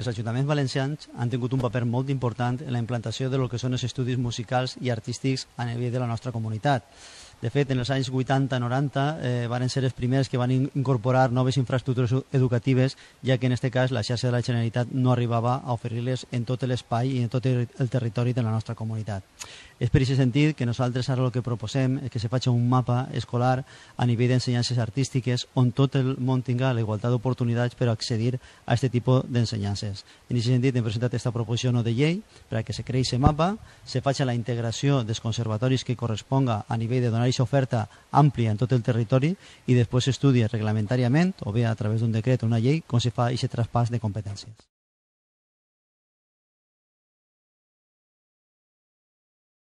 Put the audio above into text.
Els ajuntaments valencians han tingut un paper molt important en la implantació de lo que són els estudis musicals i artístics a nivell de la nostra comunitat. De fet, en els anys 80-90 van ser els primers que van incorporar noves infraestructures educatives, ja que en aquest cas la xarxa de la Generalitat no arribava a oferir-les en tot l'espai i en tot el territori de la nostra comunitat. És per aquest sentit que nosaltres ara el que proposem és que se faci un mapa escolar a nivell d'ensenyances artístiques on tot el món tinga la igualtat d'oportunitats per accedir a aquest tipus d'ensenyances. En aquest sentit hem presentat aquesta proposició no de llei per a que se creï aquest mapa, se faci la integració dels conservatoris que corresponga a nivell de donar aquesta oferta àmplia en tot el territori i després s'estudia reglamentàriament o bé a través d'un decret o una llei com se fa aquest traspàs de competències.